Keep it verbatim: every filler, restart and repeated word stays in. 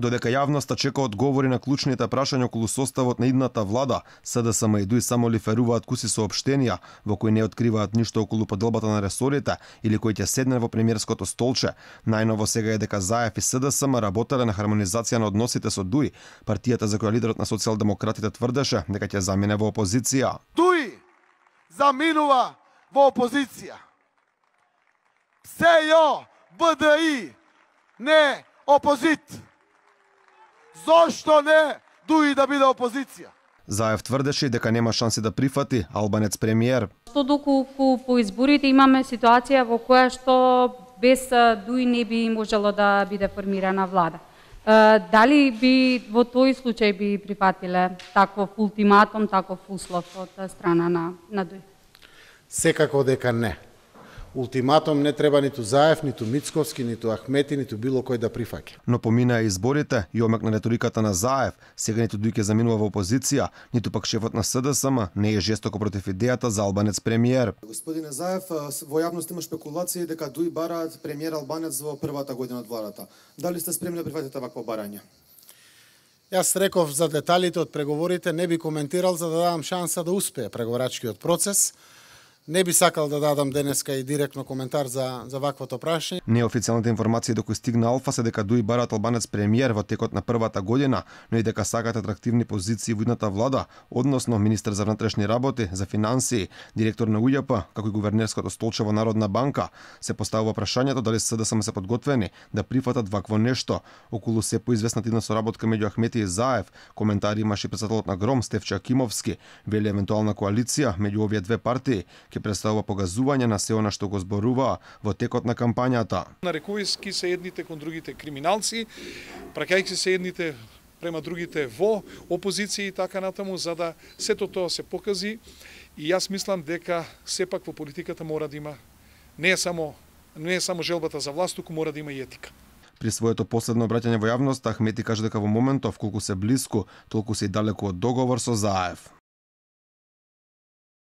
Додека јавноста чека одговори на клучните прашања околу составот на идната влада, СДСМ и ДУИ само лиферуваат куси соопштенија во кои не откриваат ништо околу поделбата на ресорите или кои ќе седне во премиерското столче. Најново сега е дека Заев и СДСМ работеле на хармонизација на односите со ДУИ, партијата за која лидерот на социјалдемократите тврдеше дека ќе замине во опозиција. ДУИ заминува во опозиција. СЈО, БДИ не опозит. Зошто не ДУИ да биде опозиција? Заев тврдеше дека нема шанси да прифати албанец премиер. Што доколку по изборите имаме ситуација во која што без ДУИ не би можело да биде формирана влада. Дали би во тој случај би прифатиле таков ултиматум, таков услов од страна на, на ДУИ? Секако дека не. Ултиматум не треба ниту Заев, ниту Мицковски, ниту Ахмети, ниту било кој да прифаќа. Но поминаа изборите и омекна реториката на Заев, сега ниту ДУИ ќе заминува во опозиција, ниту пак шефот на СДСМ не е жестоко против идејата за албанец премиер. Господине Заев, во јавност има спекулации дека ДУИ бараат премиер албанец во првата година од владата. Дали сте спремни да прифатите вакво барање? Јас реков за деталите од преговорите, не би коментирал за да дадам шанса да успее преговорачкиот процес. Не би сакал да дадам денеска и директно коментар за, за ваквото прашање. Неофицијалните информации до кои стигна Алфа се дека ДУИ бараат албанец премиер во текот на првата година, но и дека сакаат атрактивни позиции во идната влада, односно министер за внатрешни работи, за финансии, директор на УЈП, како и гувернерското столче во Народна банка. Се поставува прашањето дали СДСМ се подготвени да прифатат вакво нешто. Околу се поизвестна идна соработка меѓу Ахмети и Заев, коментари имаше председателот на ГРОМ Стефче Акимовски, вели евентуална коалиција меѓу овие две партии ќе представува погазување на се она што го зборуваа во текот на кампањата. Нарекувајќи се едните кон другите криминалци, праќајќи се едните према другите во опозиција и така натаму, за да сето тоа се покази. И јас мислам дека сепак во политиката мора да има не е само не е само желбата за власт, туку мора да има и етика. При своето последно обраќање во јавноста, Ахмети кажа дека во моментов колку се блиску, толку се и далеку од договор со Заев.